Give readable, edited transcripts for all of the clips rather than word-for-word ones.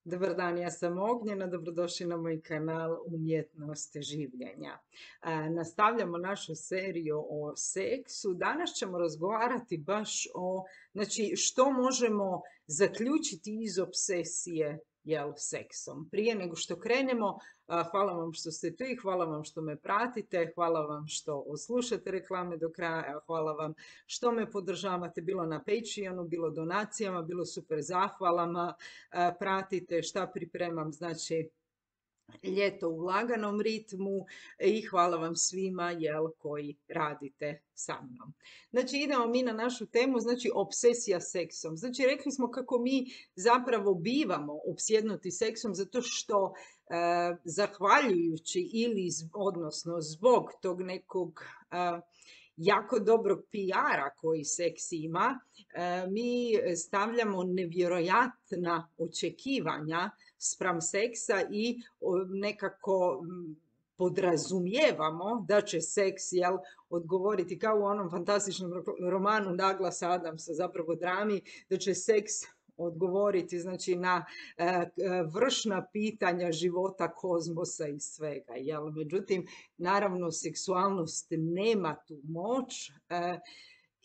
Dobar dan, ja sam Ognjena, dobrodošli na moj kanal Umjetnost življenja. Nastavljamo našu seriju o seksu. Danas ćemo razgovarati baš o, znači, što možemo zaključiti iz obsesije seksom. Prije nego što krenemo, hvala vam što ste tu i hvala vam što me pratite, hvala vam što oslušate reklame do kraja, hvala vam što me podržavate bilo na Patreonu, bilo donacijama, bilo super zahvalama. Pratite šta pripremam, znači ljeto u laganom ritmu i hvala vam svima koji radite sa mnom. Znači idemo mi na našu temu, znači obsesija seksom. Znači rekli smo kako mi zapravo bivamo opsjednuti seksom zato što zahvaljujući ili odnosno zbog tog nekog jako dobrog PR-a koji seks ima, mi stavljamo nevjerojatna očekivanja spram seksa i nekako podrazumijevamo da će seks odgovoriti kao u onom fantastičnom romanu Douglasa Adamsa, zapravo drami, da će seks odgovoriti znači na vršna pitanja života, kozmosa i svega. Međutim, naravno, seksualnost nema tu moć.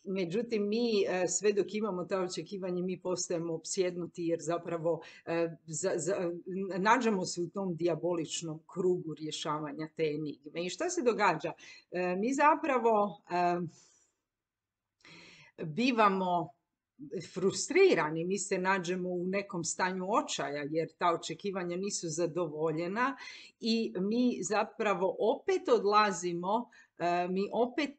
Međutim, mi sve dok imamo ta očekivanja, mi postajemo opsjednuti jer zapravo nađemo se u tom dijaboličnom krugu rješavanja te enigme. I šta se događa? Mi zapravo bivamo frustrirani, mi se nađemo u nekom stanju očaja jer ta očekivanja nisu zadovoljena i mi zapravo opet odlazimo, mi opet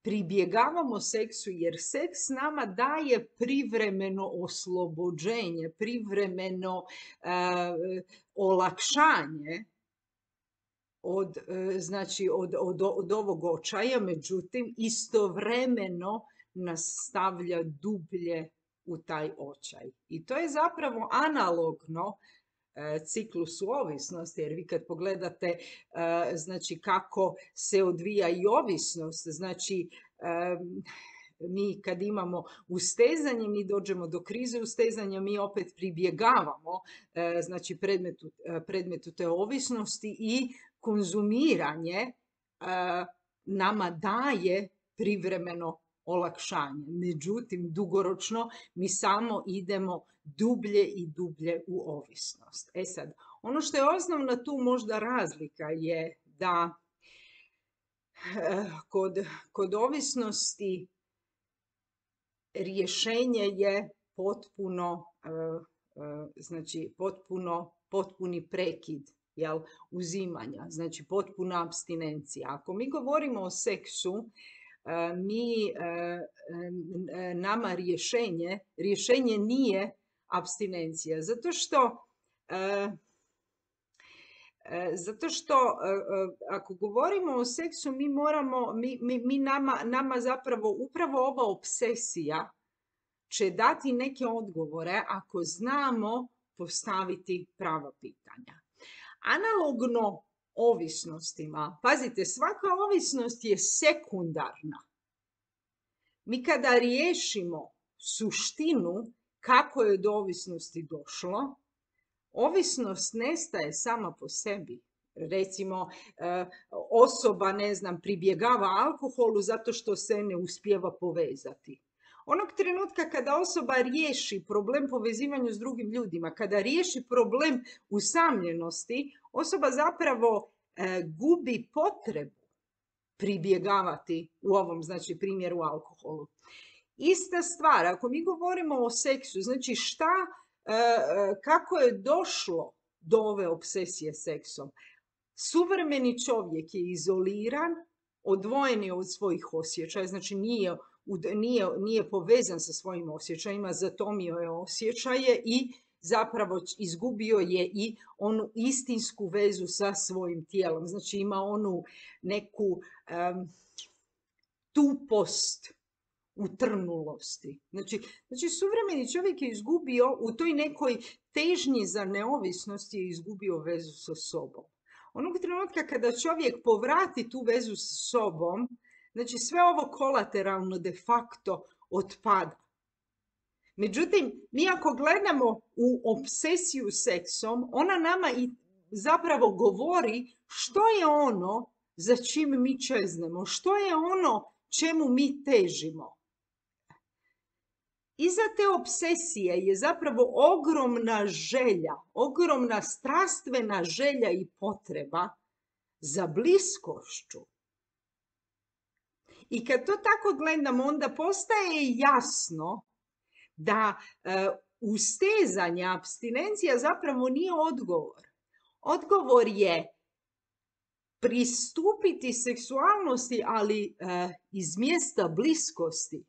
pribjegavamo seksu jer seks nama daje privremeno oslobođenje, privremeno olakšanje od ovog očaja, međutim istovremeno nas stavlja dublje u taj očaj. I to je zapravo analogno ciklusu ovisnosti, jer vi kad pogledate znači kako se odvija i ovisnost, znači mi kad imamo ustezanje, mi dođemo do krize ustezanja, mi opet pribjegavamo znači predmetu te ovisnosti i konzumiranje nama daje privremeno olakšanje. Međutim, dugoročno mi samo idemo dublje i dublje u ovisnost. E sad, ono što je osnovna tu možda razlika je da kod ovisnosti rješenje je potpuni prekid uzimanja, znači potpuna apstinencija. Ako mi govorimo o seksu, nama rješenje nije apstinencija, zato što ako govorimo o seksu, nama zapravo upravo ova obsesija će dati neke odgovore ako znamo postaviti prava pitanja. Analogno ovisnostima, pazite, svaka ovisnost je sekundarna. Mi kada riješimo suštinu kako je do ovisnosti došlo, ovisnost nestaje sama po sebi. Recimo, osoba, pribjegava alkoholu zato što se ne uspijeva povezati. Onog trenutka kada osoba riješi problem povezivanja s drugim ljudima, kada riješi problem usamljenosti, osoba zapravo gubi potrebu pribjegavati u ovom, znači, primjeru alkoholu. Ista stvar, ako mi govorimo o seksu, znači kako je došlo do ove obsesije seksom? Suvremeni čovjek je izoliran, odvojen je od svojih osjećaja, znači nije povezan sa svojim osjećajima, zatomio je osjećaje i zapravo izgubio je i onu istinsku vezu sa svojim tijelom. Znači ima onu neku tupost utrnulosti. Znači suvremeni čovjek je izgubio u toj nekoj težnji za neovisnost, je izgubio vezu sa sobom. Onog trenutka kada čovjek povrati tu vezu sa sobom, znači sve ovo kolateralno de facto otpada. Međutim, mi ako gledamo u obsesiju seksom, ona nama i zapravo govori što je ono za čim mi čeznemo, što je ono čemu mi težimo. Iza te obsesije je zapravo ogromna želja, ogromna strastvena želja i potreba za bliskošću. I kad to tako gledamo, onda postaje jasno da ustezanja, apstinencija zapravo nije odgovor. Odgovor je pristupiti seksualnosti, ali iz mjesta bliskosti,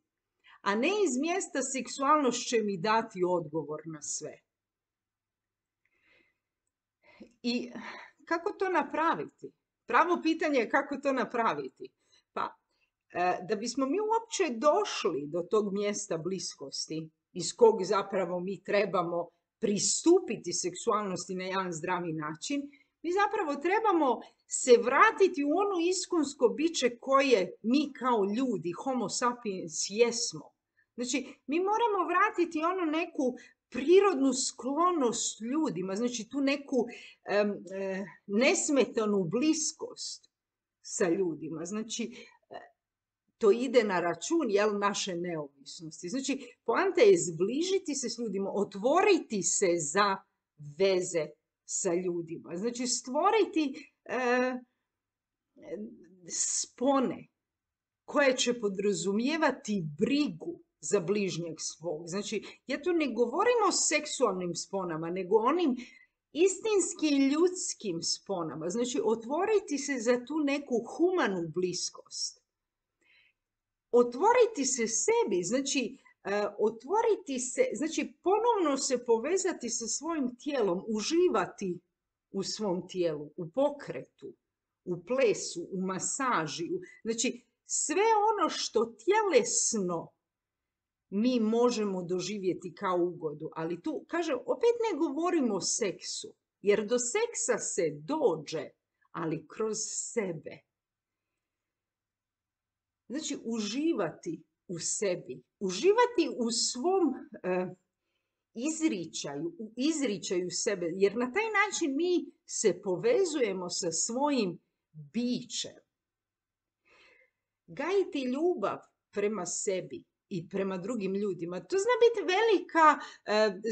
a ne iz mjesta seksualnost će mi dati odgovor na sve. I kako to napraviti? Pravo pitanje je kako to napraviti. Pa, da bismo mi uopće došli do tog mjesta bliskosti, iz kog zapravo mi trebamo pristupiti seksualnosti na jedan zdravi način, mi zapravo trebamo se vratiti u ono iskonsko biće koje mi kao ljudi, homo sapiens, jesmo. Znači, mi moramo vratiti ono neku prirodnu sklonost ljudima, znači tu neku nesmetanu bliskost sa ljudima. Znači, to ide na račun naše neovisnosti. Znači, poanta je zbližiti se s ljudima, otvoriti se za veze sa ljudima. Znači, stvoriti spone koje će podrazumijevati brigu za bližnjeg svog. Znači, ja tu ne govorim o seksualnim sponama, nego onim istinski ljudskim sponama. Znači, otvoriti se za tu neku humanu bliskost. Otvoriti se sebi, znači, otvoriti se, znači, ponovno se povezati sa svojim tijelom, uživati u svom tijelu, u pokretu, u plesu, u masaži. Znači, sve ono što tjelesno mi možemo doživjeti kao ugodu. Ali tu, kažem, opet ne govorimo o seksu, jer do seksa se dođe, ali kroz sebe. Znači, uživati u sebi, uživati u svom izričaju sebe, jer na taj način mi se povezujemo sa svojim bićem. Gajiti ljubav prema sebi i prema drugim ljudima, to zna biti velika,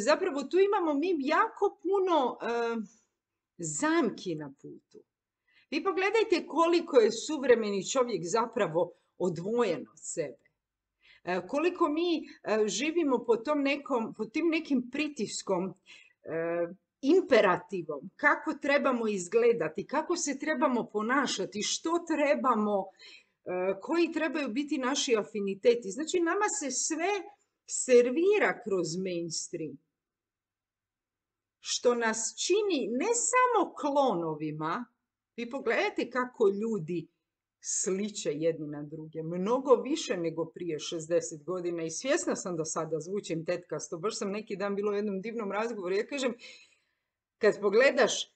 zapravo tu imamo mi jako puno zamki na putu. Vi pogledajte koliko je suvremeni čovjek zapravo odvojen od sebe. Koliko mi živimo pod tim nekim pritiskom, imperativom, kako trebamo izgledati, kako se trebamo ponašati, što trebamo, koji trebaju biti naši afiniteti. Znači, nama se sve servira kroz mainstream, što nas čini ne samo klonovima. Vi pogledajte kako ljudi sliče jedni na druge, mnogo više nego prije 60 godina i svjesna sam da sada zvučim tetkasto. Baš sam neki dan bilo u jednom divnom razgovoru. Ja kažem, kad pogledaš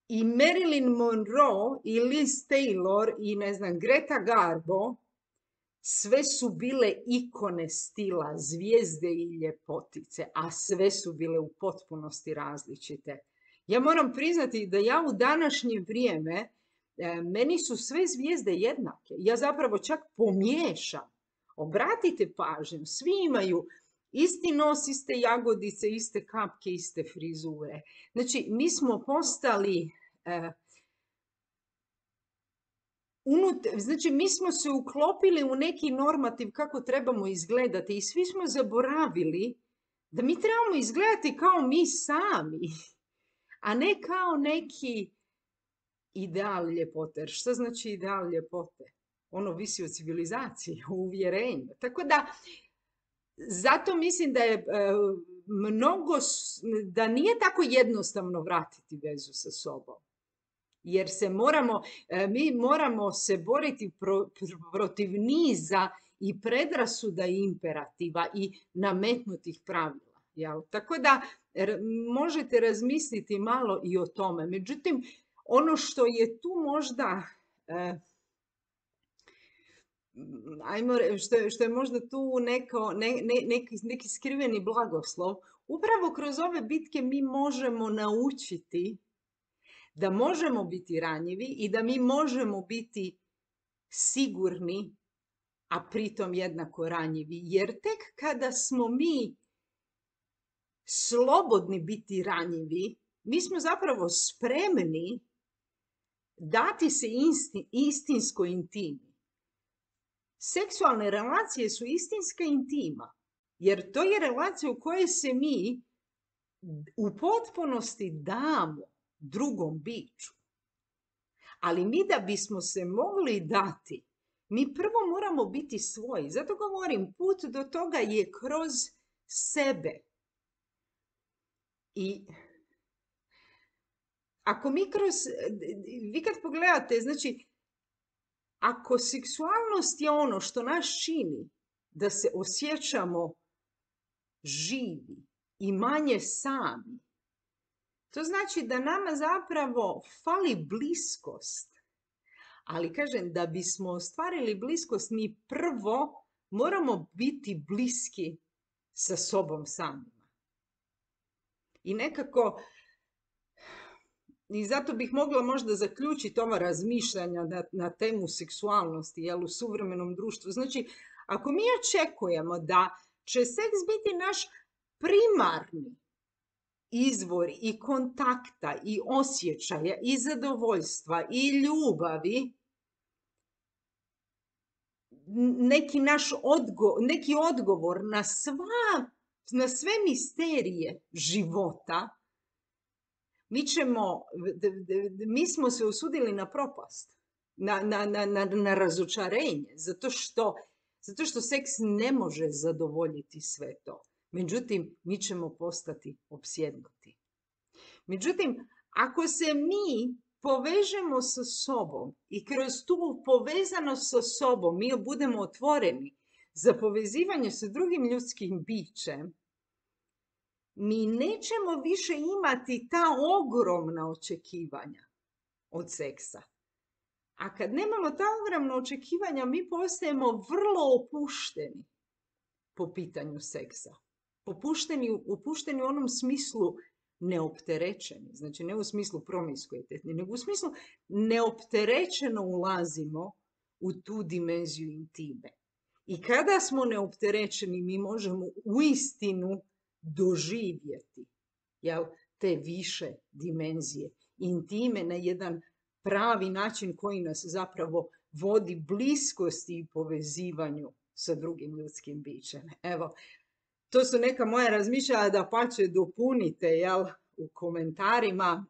i Marilyn Monroe i Liz Taylor i ne znam Greta Garbo, sve su bile ikone stila, zvijezde i ljepotice, a sve su bile u potpunosti različite. Ja moram priznati da ja u današnje vrijeme, meni su sve zvijezde jednake. Ja zapravo čak pomiješam. Obratite pažnju, svi imaju isti nos, iste jagodice, iste kapke, iste frizure. Znači, mi smo postali, znači, mi smo se uklopili u neki normativ kako trebamo izgledati i svi smo zaboravili da mi trebamo izgledati kao mi sami, a ne kao neki ideal ljepote. Šta znači ideal ljepote? Ono visi od civilizacije, o uvjerenju. Tako da, zato mislim da je da nije tako jednostavno vratiti vezu sa sobom. Jer mi moramo se boriti protiv niza i predrasuda i imperativa i nametnutih pravila. Jel? Tako da možete razmisliti malo i o tome. Međutim, ono što je tu možda što je možda tu neki skriveni blagoslov, upravo kroz ove bitke mi možemo naučiti da možemo biti ranjivi i da mi možemo biti sigurni, a pritom jednako ranjivi. Jer tek kada smo mi slobodni biti ranjivi, mi smo zapravo spremni dati se istinskoj intimi. Seksualne relacije su istinska intima, jer to je relacija u kojoj se mi u potpunosti damo drugom biću. Ali mi da bismo se mogli dati, mi prvo moramo biti svoji. Zato govorim, put do toga je kroz sebe. I ako vi kad pogledate, znači, ako seksualnost je ono što nas čini da se osjećamo živi i manje sami, to znači da nama zapravo fali bliskost. Ali kažem, da bismo ostvarili bliskost, mi prvo moramo biti bliski sa sobom samima. I nekako, i zato bih mogla možda zaključiti ova razmišljanja na temu seksualnosti u suvremenom društvu. Znači, ako mi očekujemo da će seks biti naš primarni izvor i kontakta i osjećaja i zadovoljstva i ljubavi, neki odgovor na sve misterije života, mi smo se usudili na propast, na razočarenje, zato što seks ne može zadovoljiti sve to. Međutim, mi ćemo postati opsjednuti. Međutim, ako se mi povežemo sa sobom i kroz tu povezanost sa sobom mi budemo otvoreni za povezivanje sa drugim ljudskim bićem, mi nećemo više imati ta ogromna očekivanja od seksa. A kad nemamo ta ogromna očekivanja, mi postajemo vrlo opušteni po pitanju seksa. Opušteni u onom smislu neopterećeni, znači ne u smislu promiskuitetni, nego u smislu neopterećeno ulazimo u tu dimenziju intime. I kada smo neopterećeni, mi možemo uistinu doživjeti te više dimenzije intime na jedan pravi način koji nas zapravo vodi bliskosti i povezivanju sa drugim ljudskim bićem. Evo, to su neka moja razmišljanja, da pače dopunite u komentarima.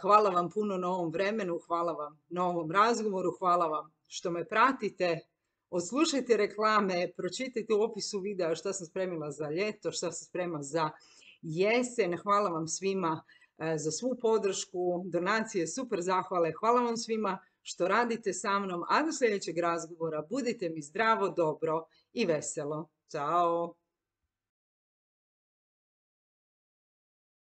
Hvala vam puno na ovom vremenu, hvala vam na ovom razgovoru, hvala vam što me pratite. Odslušajte reklame, pročitajte u opisu videa šta sam spremila za ljeto, šta sam spremila za jesen. Hvala vam svima za svu podršku, donacije, super zahvale. Hvala vam svima što radite sa mnom, a do sljedećeg razgovora budite mi zdravo, dobro i veselo. Ćao!